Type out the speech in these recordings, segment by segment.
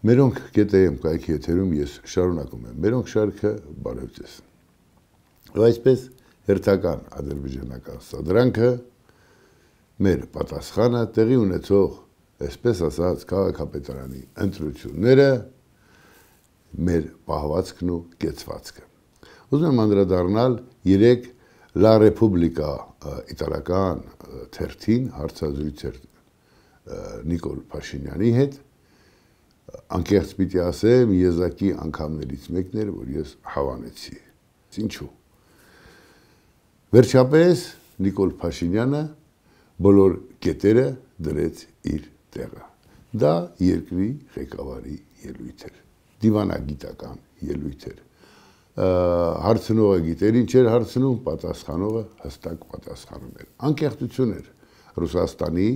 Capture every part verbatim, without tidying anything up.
Մերոնք կետեեմ կայքի եթերում ես շարունակում եմ, մերոնք շարքը բարև ձեզ։ Ու այսպես հերթական ադրբեջանական սադրանքը մեր պատասխանը տեղի ունեցող, այսպես ասած, քաղաքապետարանի ընտրությունները մեր պահվածքն ու կեցվածքը։ Ուզում եմ անդրադառնալ երեք Լա Ռեպուբլիկա իտալական թերթին հարցազրույց էր Նիկոլ Փաշինյանի հետ, անկեղծ պիտի ասեմ, եզակի անգամներից մեկն էր, որ ես հավանեցի։ Ինչու։ Վերջապես Նիկոլ Փաշինյանը բոլոր կետերը դրեց իր տեղը։ Դա երկրի ղեկավարի ելույթ էր, դիվանագիտական ելույթ էր։ Հարցնողը գիտեր ինչ էր հարցնում, պատասխանողը հստակ պատասխանում էր։ Անկեղծություն էր Ռուսաստանի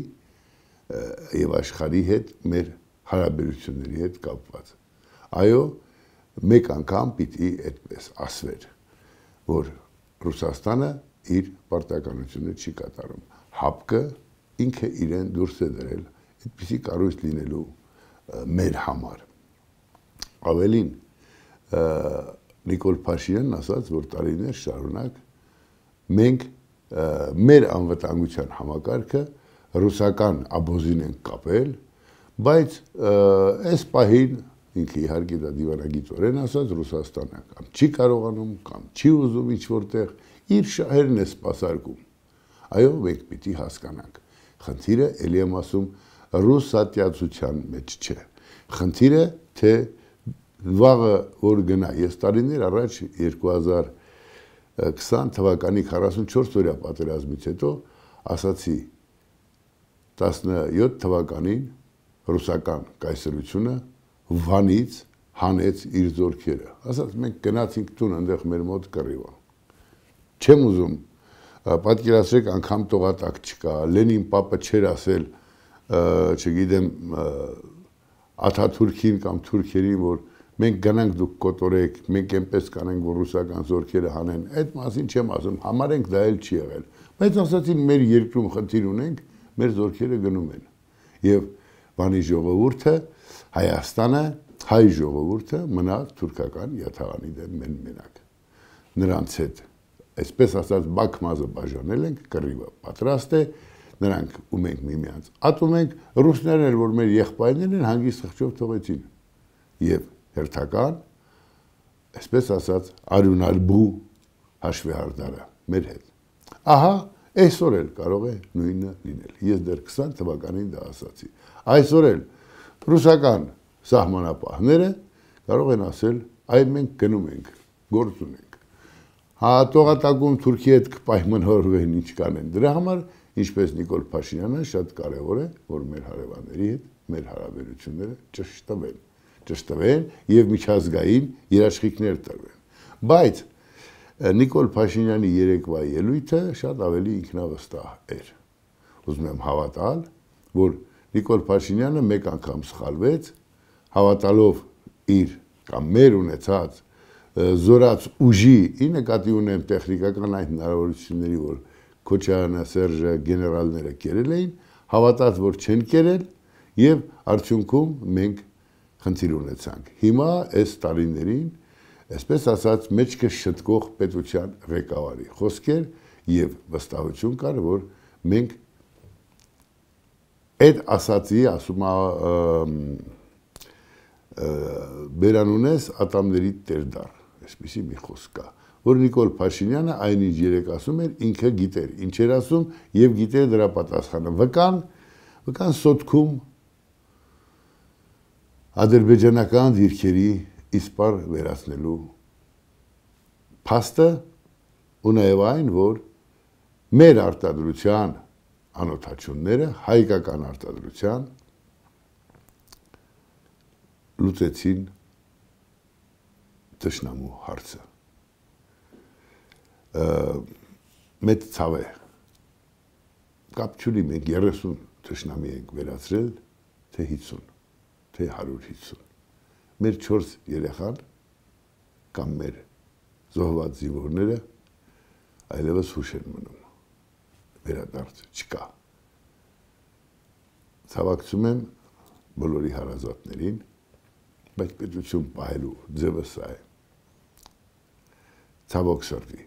եւ աշխարհի հետ մեր հարաբերությունների հետ կապված։ Այո, մեկ անգամ պիտի այդպես ասվեր, որ Ռուսաստանը իր պարտականությունը չի կատարում։ Հապկը ինքը իրեն դուրս է դրել այդպիսի կառույց լինելու մեր համար։ Ավելին, Նիկոլ Փաշինյանն ասաց, որ տարիներ շարունակ մենք մեր անվտանգության համակարգը ռուսական աբոզին ենք կապել, բայց այս պահին ինքը իհարկե դա դիվանագիտորեն ասած Ռուսաստանը կամ չի կարողանում, կամ չի ուզում ինչ-որտեղ իր շահերն է սպասարկում։ Այո, մենք պիտի հասկանանք։ Խնդիրը ելի եմ ասում ռուսատյացության մեջ չէ։ Խնդիրը թե վաղը որ գնա, ես տարիներ առաջ երկու հազար քսան թվականի քառասունչորս օրյա պատերազմից հետո ասացի տասնյոթ թվականին ռուսական կայսրությունը Վանից հանեց իր զորքերը։ Ասած մենք գնացինք տուն, այնտեղ մեր մոտ կռիվ։ Չեմ ուզում պատկերացրեք անգամ տողատակ չկա, Լենին պապը չէր ասել, չգիտեմ, Աթաթուրքին կամ թուրքերին, որ մենք գնանք դուք կոտորեք, մենք այնպես կանենք, որ ռուսական զորքերը հանեն։ Այդ մասին չեմ ասում, համարենք դա էլ չի եղել։ Բայց ասացին մեր երկրում խնդիր ունենք, մեր զորքերը գնում են։ Եվ Վանի ժողովուրդը, Հայաստանը, հայ ժողովուրդը մնաց թուրքական յաթաղանի դեմ մենակ։ Նրանց հետ, այսպես ասած, բաքմազը բաժանել ենք, կռիվը պատրաստ է, նրանք ու մենք միմյանց ատում ենք, ռուսներն էլ, որ մեր եղբայրներն են, հանգիստ խղճով թողեցին։ Եվ հերթական, այսպես ասած, արյունալբու հաշվեհարդարը մեր հետ։ Ահա, այսօր էլ կարող է նույնը լինել։ Ես դեռ քսան թվականին դա ասացի։ Այսօր էլ ռուսական սահմանապահները կարող են ասել, այ մենք գնում ենք, գործ ունենք։ Հա տողատակում Թուրքի հետ կպայմանավորվեն ինչ կանեն։ Դրա համար, ինչպես Նիկոլ Փաշինյանը, շատ կարևոր է, որ մեր հարևանների հետ մեր հարաբերությունները ճշտվեն, ճշտվեն եւ միջազգային երաշխիքներ տրվեն։ Բայց Նիկոլ Փաշինյանի երեկվա ելույթը շատ ավելի ինքնավստահ էր։ Ուզում եմ հավատալ, որ Նիկոլ Փաշինյանը մեկ անգամ սխալվեց, հավատալով իր կամ մեր ունեցած զորաց ուժի, ի նկատի ունեմ տեխնիկական այդ հնարավորությունների, որ Քոչարյանը, Սերժը, գեներալները կերել էին, հավատաց, որ չեն կերել եւ արդյունքում մենք խնդիր ունեցանք։ Հիմա այս տարիներին, այսպես ասած, մեջքը շտկող պետության ղեկավարի խոսքեր եւ վստահություն կար, որ մենք այդ ասացի, ասում բերանունես ատամների տերդար, այսպիսի մի խոսք կա, որ Նիկոլ Փաշինյանը այնինչ երեք ասում էր, ինքը գիտեր, ինչ էր ասում եւ գիտեր դրա պատասխանը։ Վկան, վկան սոտքում ադրբեջանական դիրքերի իսպար վերացնելու փաստը ու նաեւ այն, որ մեր արտադրության անօթաչունները հայկական արտադրության լուծեցին թշնամու հարցը։ Մեծ ցավ է։ Կապ չունի, մենք երեսուն թշնամի ենք վերացրել, թե հիսուն, թե հարյուր հիսուն։ Մեր չորս երեխան կամ մեր զոհված զինվորները այլևս հուշ են մնում։ Վերադարձ չկա։ Ցավակցում եմ բոլորի հարազատներին, բայց պետություն պահելու ձևը սա է։ Ցավոք սրտի։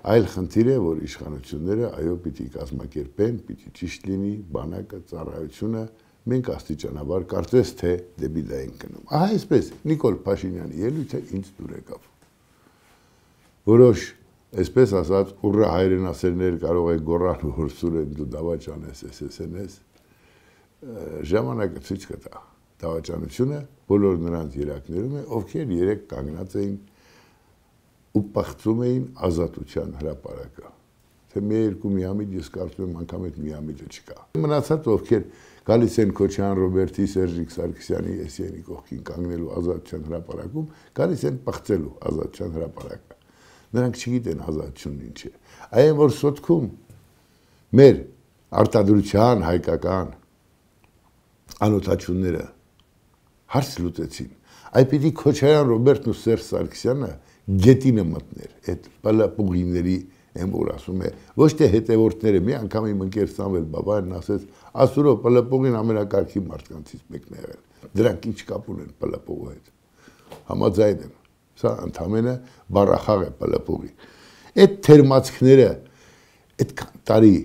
Այլ խնդիր է, որ իշխանությունները այո պիտի կազմակերպեն, պիտի ճիշտ լինի բանակը, ծառայությունը, մենք աստիճանաբար կարծես թե դեպի դա ենք գնում։ Ահա այսպես Նիկոլ Փաշինյանի ելույթը ինձ դուր եկավ։ Որոշ, այսպես ասած, ուռա հայրենասերներ կարող է գոռալ, որ Սուրեն դու դավաճան ես, էս էս էս, ժամանակը ցույց կտա։ Դավաճանությունը բոլոր նրանց երակներում է, ովքեր երեք կանգնած էին ու պղծում էին ազատության հրապարակը։ Թե մի երկու միամիտ ես կարծում եմ անգամ այդ միամիտը չկա։ Մնացած ովքեր գալիս են Քոչարյան Ռոբերտի, Սերժիկ Սարգսյանի, Էսիյանի կողքին կանգնելու ազատության հրապարակում, գալիս են պղծելու ազատության հրապարակը։ Նրանք չգիտեն ազատությունն ինչ է։ Այն որ սոտքում մեր արտադրության հայկական անօթաչունները հարց լուծեցին։ Այ պիտի Քոչարյան Ռոբերտն ու Սերժ Սարգսյանը գետինը մտներ այդ պլապուղիների եմ որ ասում է ոչ թե հետևորդները մի անգամ իմ ընկեր Սամվել Բաբայանն ասեց ասուրո պլապուղին ամենակարգի մարդկանցից մեկն է եղել դրանք ինչ կապ ունեն պլապուղու հետ համաձայն եմ սա ընդամենը բառախաղ է պլապուղի այդ թերմացքները այդքան տարի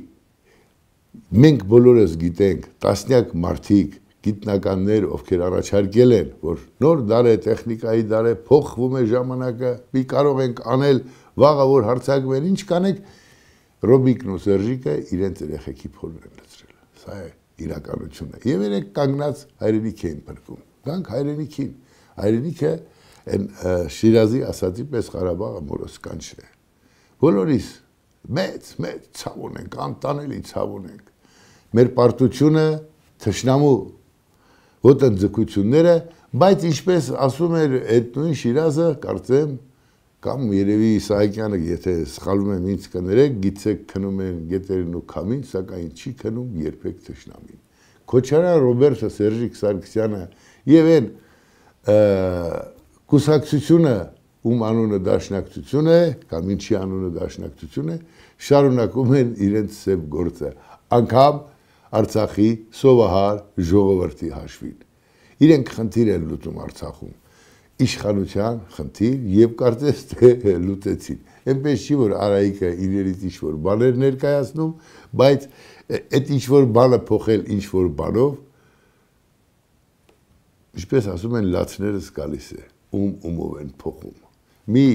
մենք բոլորս գիտենք տասնյակ մարդիկ գիտնականներ, ովքեր առաջարկել են, որ նոր դար է, տեխնիկայի դար է, փոխվում է ժամանակը, մի կարող ենք անել, վաղը որ հարցակվեն, ինչ կանեք, Ռոբիկն ու Սերժիկը իրենց երեխեքի փորն են լցրել։ Սա է իրականությունը։ Եվ երեք կանգնած հայրենիք էին փրկում։ Գանք հայրենիքին։ Հայրենիքը այն Շիրազի ասածի պես Ղարաբաղը մորս կանչն է։ Բոլորիս մեծ, մեծ ցավ ունենք, անտանելի ցավ ունենք։ Մեր պարտությունը թշնամու ոտնձգությունները, բայց ինչպես ասում էր այդ նույն Շիրազը, կարծեմ, կամ երևի Իսահակյանը, եթե սխալվում եմ ինձ կներեք, գիծեք քնում են գետերին ու քամին, սակայն չի քնում երբեք թշնամին։ Քոչարյան Ռոբերտը, Սերժիկ Սարգսյանը եւ այն կուսակցությունը, ում անունը Դաշնակցություն է, կամ ինչի անունը Դաշնակցություն է, շարունակում են իրենց սև գործը, անգամ Արցախի սովահար ժողովրդի հաշվին։ Իրենք խնդիր են լուծում Արցախում, իշխանության խնդիր եւ կարծես թե լուծեցին։ Այնպես չի որ Արայիկը իրերից ինչ-որ բաներ ներկայացնում, բայց այդ ինչ-որ բանը փոխել ինչ-որ բանով, ինչպես ասում են լացներս գալիս է, ում ումով են փոխում։ Մի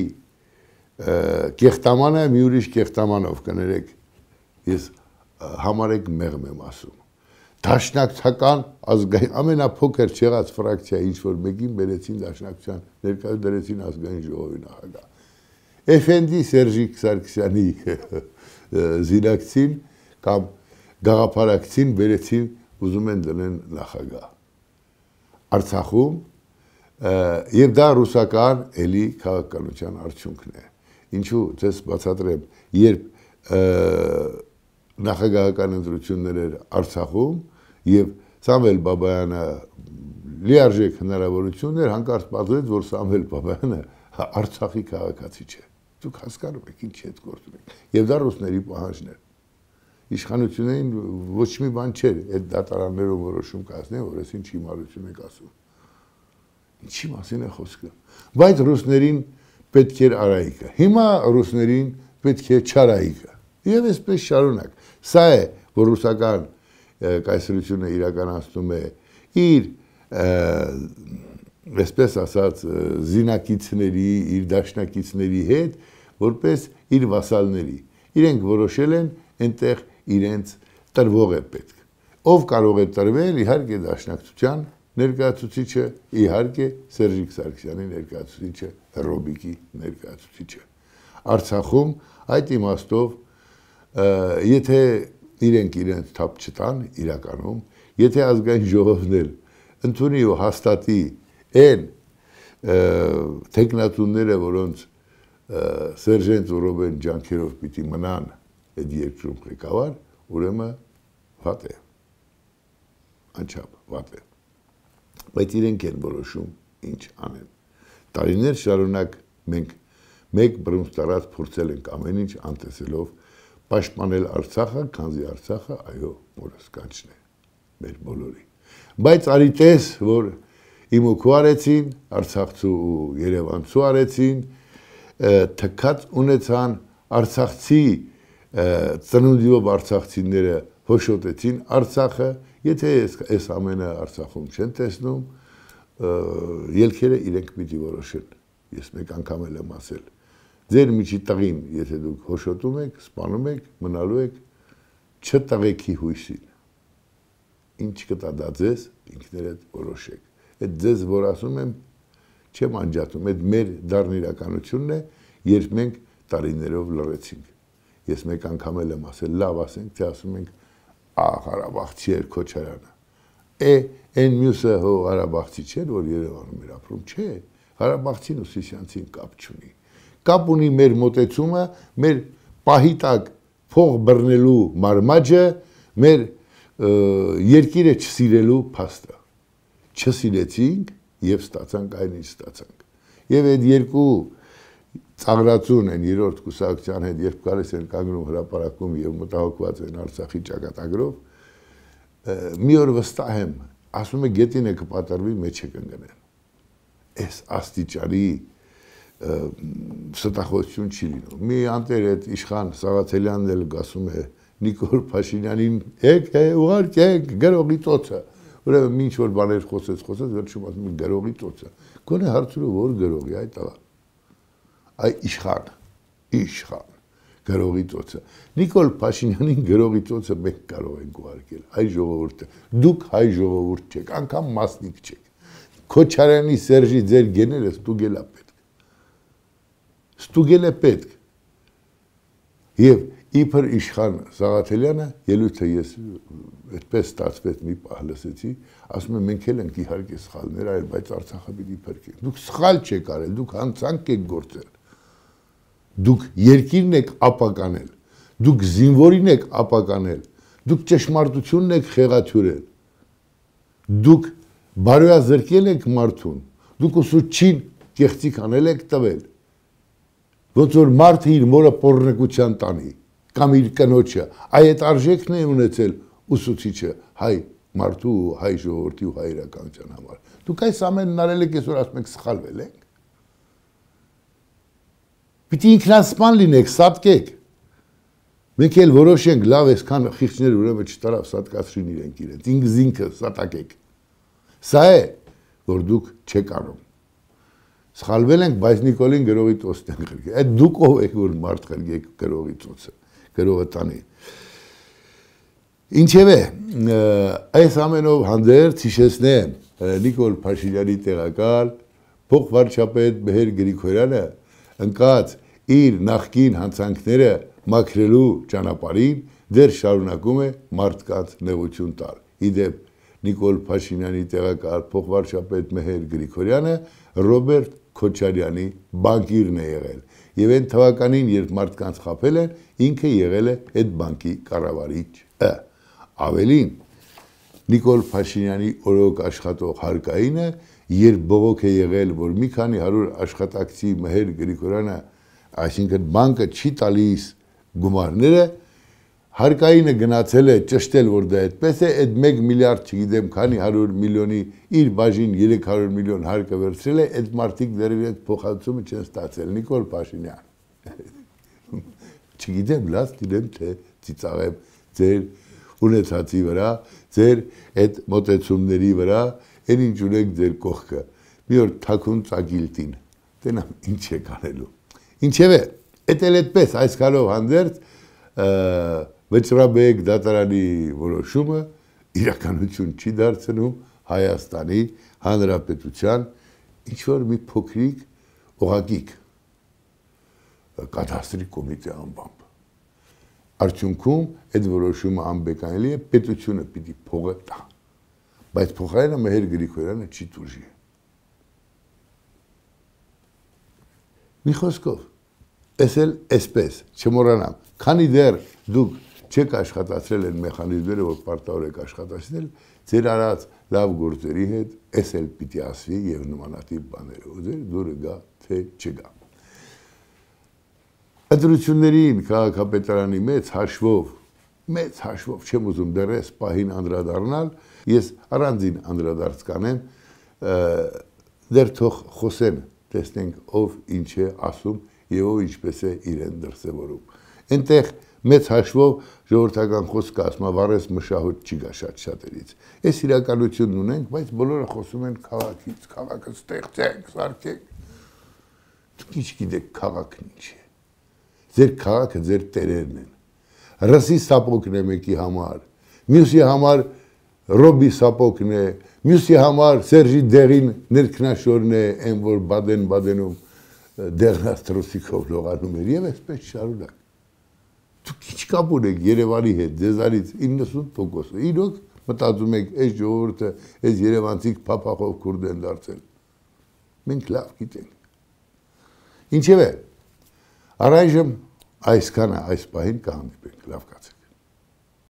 կեղտամանը մի ուրիշ կեղտամանով կներեք, ես համարեք մեղմ եմ ասում։ Դաշնակցական ազգային ամենափոքր չեղած ֆրակցիա ինչ որ մեկին բերեցին դաշնակցության ներկայ դրեցին ազգային ժողովի նախագահ։ Էֆենդի Սերժիկ Սարգսյանի զինակցին կամ գաղափարակցին բերեցին ուզում են դնեն նախագահ։ Արցախում եւ դա ռուսական էլի քաղաքականության արդյունքն է։ Ինչու ցես բացատրեմ, երբ նախագահական ընտրություններ էր Արցախում եւ Սամվել Բաբայանը լիարժեք հնարավորություններ հանկարծ պատվեց, որ Սամվել Բաբայանը Արցախի քաղաքացի չէ։ Դուք հասկանում եք ինչ հետ գործում եք։ Եվ դա ռուսների պահանջն էր։ Իշխանություններին ոչ մի բան չէր, այդ դատարաններով որոշում կայացնեն, որ ես ինչ հիմարություն եք ասում։ Ինչի մասին է խոսքը։ Բայց ռուսներին պետք էր Արայիկը։ Հիմա ռուսներին պետք է Չարայիկը։ Եվ այսպես շարունակ։ Սա է, որ ռուսական կայսրությունը իրականացնում է իր այսպես ասած զինակիցների, իր դաշնակիցների հետ, որպես իր վասալների։ Իրենք որոշել են այնտեղ իրենց տրվող է պետք։ Ով կարող է տրվել, իհարկե դաշնակցության ներկայացուցիչը, իհարկե Սերժիկ Սարգսյանի ներկայացուցիչը, Ռոբիկի ներկայացուցիչը։ Արցախում այդ իմաստով եթե իրենք իրենց թափ չտան իրականում, եթե ազգային ժողովն էլ ընդունի ու հաստատի այն տեխնատունները, որոնց Սերժենտ ու Ռոբեն ջանքերով պիտի մնան այդ երկրում ղեկավար, ուրեմն վատ է, անչափ վատ է, բայց իրենք են որոշում ինչ անեն։ Տարիներ շարունակ մենք մեկ բռունցքարած փորձել ենք ամեն ինչ անտեսելով պաշտպանել Արցախը, քանզի Արցախը այո մորս կանչն է մեր բոլորի։ Բայց արի տես, որ իմ ու քու արեցին, Արցախցու ու Երևանցու արեցին, թքած ունեցան Արցախցի ծնունդիով արցախցիները հոշոտեցին Արցախը, եթե այս ամենը Արցախում չեն տեսնում, ելքերը իրենք պիտի որոշեն, ես մեկ անգամ էլ եմ ասել, ձեր միջի տղին, եթե դուք հոշոտում եք, սպանում եք, մնալու եք, չտղեքի հույսին, ինչ կտա դա ձեզ, ինքներդ որոշեք, այդ ձեզ որ ասում եմ, չեմ անջատում, այդ մեր դառն իրականությունն է, երբ մենք տարիներով լռեցինք, ես մեկ անգամ էլ եմ ասել, լավ ասենք, թե ասում ենք, ահ, Ղարաբաղցի էր Քոչարյանը, է, այն մյուսը հո Ղարաբաղցի չէր, որ Երևանում էր ապրում, չէ, Ղարաբաղցին ու Սիսյանցին կապ չունի, կապ ունի մեր մոտեցումը, մեր պահի տակ փող բռնելու մարմաճը, մեր երկիրը չսիրելու փաստը, չսիրեցինք և ստացանք այն ինչ ստացանք, և այդ երկու ծաղրածուն են երրորդ կուսակցության հետ, երբ գալիս են կանգնում հրապարակում և մտահոգված են Արցախի ճակատագրով, մի օր վստահ եմ, ասում է գետին է կպատառվի, մեջ է կընկնեն, այս աստիճանի ստախոսություն չի լինում, մի անտեր այդ իշխան Սաղաթելյանն էլ ասում է Նիկոլ Փաշինյանին, եկ ուղարկեք գրողի ծոցը, ուրեմն ինչ որ բաներ խոսեց, խոսեց, վերջում ասում է գրողի ծոցը, գոնե հարցրու որ գրողի, այ տղա, այ իշխան, իշխան, գրողի ծոցը, Նիկոլ Փաշինյանին գրողի ծոցը մենք կարող ենք ուղարկել, հայ ժողովուրդը, դուք հայ ժողովուրդ չեք, անգամ մասնիկ չեք, Քոչարյանի Սերժի ձեր գեները ստուգել է պետք, ստուգել է պետք, և իբր իշխան Սաղաթելյանը, ելույթը ես այդպես ստացվեց մի պահ լսեցի, ասում եմ մենք էլ ենք իհարկե սխալներ արել, բայց Արցախը պիտի փրկենք, դուք սխալ չեք արել, դուք հանցանք եք գործել, դուք երկիրն եք ապականել, դուք զինվորին եք ապականել, դուք ճշմարտությունն եք խեղաթյուրել, դուք բարոյազրկել եք մարդուն, դուք ուսուցչին կեղծիք անել եք տվել, ոնց որ մարդը իր մորը պոռնկության տանի, կամ իր կնոջը, այդ արժեքն է ունեցել ուսուցիչը հայ մարդու ու հայ ժողովրդի ու հայ իրականության համար, դուք այս ամենն արել եք, այսօր ասում եք սխալվել ենք, պիտի ինքնասպան լինեք, սատկեք, մենք էլ որոշենք, լավ այսքան խիղճներ ուրեմն չտարավ, սատկացրին իրենք իրենց, ինքս ինքը սատակեք, սա է, որ դուք չեք անում, սխալվել ենք, բայց Նիկոլին գրողի ծոցն են խրգել, այդ դուք ով եք, որ մարդ խրգեք գրողի ծոցը, գրողը տանի, ինչև է, այս ամենով հանդերձ հիշեցնեմ Նիկոլ Փաշինյանի տեղակալ, փոխվարչապետ Մեհեր Գրիգորյանը ընկած իր նախկին հանցանքները մաքրելու ճանապարհին դեռ շարունակում է մարդկանց նեղություն տալ, իդեպ Նիկոլ Փաշինյանի տեղակալ փոխվարչապետ Մեհեր Գրիգորյանը Ռոբերտ Քոչարյանի բանկիրն է եղել և այն թվականին, երբ մարդկանց խաբել են, ինքը եղել է այդ բանկի կառավարիչը, ավելին Նիկոլ Փաշինյանի օրոք աշխատող հարկայինը, երբ բողոք է եղել, որ մի քանի հարյուր աշխատակցի Մեհեր Գրիգորյանը, այսինքն բանկը չի տալիս գումարները, հարկայինը գնացել է ճշտել, որ դա այդպես է, այդ մեկ միլիարդ չգիտեմ քանի հարյուր միլիոնի իր բաժին երեք հարյուր միլիոն հարկը վերցրել է, այդ մարդիկ դեռ իրենց փոխհատուցումը չեն ստացել, Նիկոլ Փաշինյան, չգիտեմ, լաց դիրեմ, թե ծիծաղեմ ձեր ունեցածի վրա, ձեր այդ մոտեցումների վրա, այն ինչ ունեք ձեր կողքը, մի օր թաքուն ծագիլտին, տենամ ինչ է կանելու, ինչև է, էդ էլ այդպես, այս կալով հանդերձ, Վճռաբեկ դատարանի որոշումը իրականություն չի դարձնում Հայաստանի Հանրապետության ինչ-որ մի փոքրիկ օղակիկ կադաստրի կոմիտե անվամբ։ Արդյունքում այդ որոշումը անբեկանելի է, պետությունը պիտի փողը տա, բայց փոխարենը Մեհեր Գրիգորյանը չի տուժի։ Մի խոսքով, ես էլ այսպես, չմոռանամ, քանի դեռ դուք չեք աշխատացրել են մեխանիզմները, որ պարտավոր եք աշխատացնել, ձեր արած լավ գործերի հետ ես էլ պիտի ասվի և նմանատիպ բաները, ու ձեր դուրը գա, թե չգա։ Ընտրություններին քաղաքապետարանի մեծ հաշվով, մեծ հաշվով, չեմ ուզում դեռ ես պահին անդրադառնալ, ես առանձին անդրադարձ կանեմ դեռ թող խոսեն, տեսնենք ով ինչ է ասում եւ ով ինչպես է իրեն դրսեւորում։ Այնտեղ մեծ հաշվով ժողովրդական խոսքը ասում է վառես մշահոտ չի գա շատ շատերից։ Այս իրականությունն ունենք, բայց բոլորը խոսում են քաղաքից, քաղաքը ստեղծենք, սարքենք։ Դուք ինչ գիտեք քաղաքն ինչ է։ Ձեր քաղաքը ձեր տերերն են։ Ռսի սապոկն է մեկի համար, մյուսի համար Ռոբի սապոկն է, մյուսի համար Սերժի դեղին ներքնաշորն է, այն որ Բադեն-Բադենում դեղնաստրոսիկով լողանում էր եւ այսպես շարունակ։ Դուք ինչ կապ ունեք Երևանի հետ, ձեզանից իննսուն տոկոսը։ Իրոք մտածում եք, այս ժողովուրդը, այս երևանցիք փափախով քուրդ են դարձել։ Մենք լավ գիտենք։ Ինչևէ, առայժմ այսքանը այս պահին կհանդիպենք, լավ կա։